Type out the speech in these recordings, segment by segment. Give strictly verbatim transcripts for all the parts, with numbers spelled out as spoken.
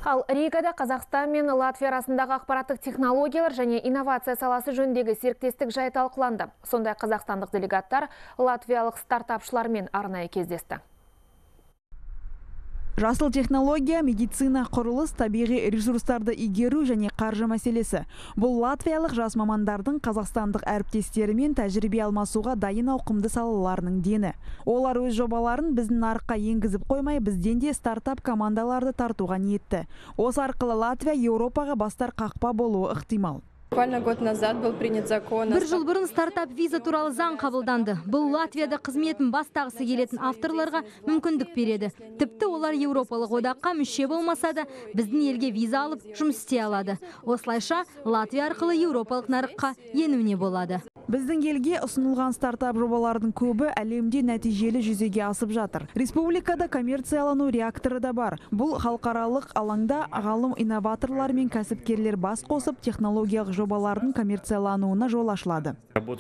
Ал Ригада Қазақстан мен Латвия арасындағы ақпараттық технологиялар және инновация саласы жөніндегі серіктестік жайы талқыланды. Сондай қазақстандық делегаттар латвиялық стартапшылармен арнайы кездесті. Жасыл технология, медицина, құрылыс, табиғи ресурстарды игеру және қаржы мәселесі. Бұл латвиялық жас мамандардың қазақстандық әріптестерімен тәжірибе алмасуға дайын ауқымды салаларының дені. Олар өз жобаларын біздің нарыққа енгізіп қоймай, бізден де стартап командаларды тартуға ниетті. Осы арқылы Латвия Еуропаға бастар қақпа болуы ықтимал. Бір жыл бұрын стартап виза туралы заң қабылданды. Бұл Латвияда қызметін бастағысы келетін авторларға мүмкіндік береді. Тіпті олар Еуропалық одаққа мүше болмаса да, біздің елге виза алып жұмыс істей алады. Осылайша Латвия арқылы Еуропалық нарыққа енуіне болады. Біздің елге ұсынылған стартап жобалардың көбі әлемде нәтижелі жүзеге асып жатыр. Республикада коммерциялану реакторы да бар. Бұл халықаралық алаңда ғалым инноваторлар мен кәсіпкерлер бас қосып технологиялық жобалардың коммерциялануына жол ашылады. Бұл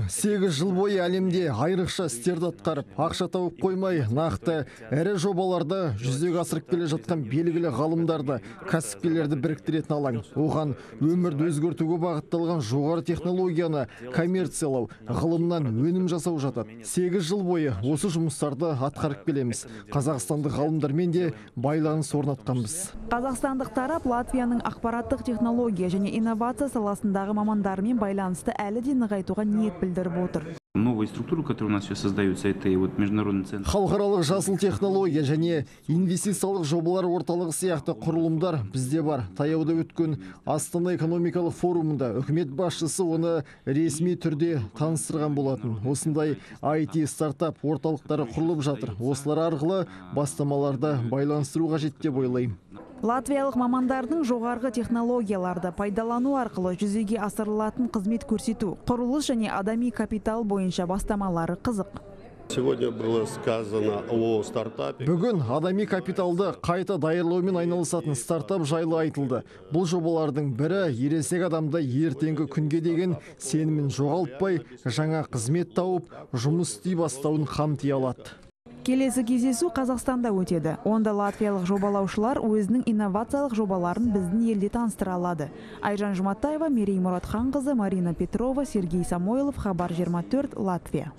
сегіз жыл бойы әлемде айрықша істерді атқарып, ақша тауып қоймай, нақты әрі жобаларды жүзеге асырып келе жатқан белгілі ғалымдарды, кәсіпкерлерді біріктіретін алаң. Оған өмірді өзгертуге бағытталған жоғары технологияны коммерциялау, ғылымнан өнім жасау жатады. сегіз жыл бойы осы жұмыстарды атқарып келеміз. Қазақстандық ғалымдармен де байланыс орнатқанбыз. Қазақстандық тарап Латвияның ақпараттық технология және инновация саласындағы мамандарымен байланысты әлі де нығайтуға ниет білдіріп отыр. Халықаралық жасыл технология және инвестициялық жобалар орталығы сияқты құрылымдар бізде бар. Таяуда өткен Астана экономикалық форумында үкімет басшысы оны ресми түрде таныстырған болатын. Осындай ай ти стартап орталықтары құрылып жатыр. Осылар арқылы бастамаларды байланыстыру қажет деп ойлаймын. Латвиялық мамандардың жоғарғы технологияларды пайдалану арқылы жүзеге асырылатын қызмет көрсету, құрылыс және адами капитал бойынша бастамалары қызық. Бүгін адами капиталды қайта даярлаумен айналысатын стартап жайлы айтылды. Бұл жобалардың бірі ересек адамды ертеңгі күнге деген сенімін жоғалтпай, жаңа қызмет тауып, жұмыс істей бастауын қамти алады. Келесі кездесу Қазақстанда өтеді. Онда латвиялық жобалаушылар өзінің инновациялық жобаларын біздің елде таныстыра алады. Айжан Жұматаева, Мерей Мұратханқызы, Марина Петрова, Сергей Самойлов, Хабар жиырма төрт, Латвия.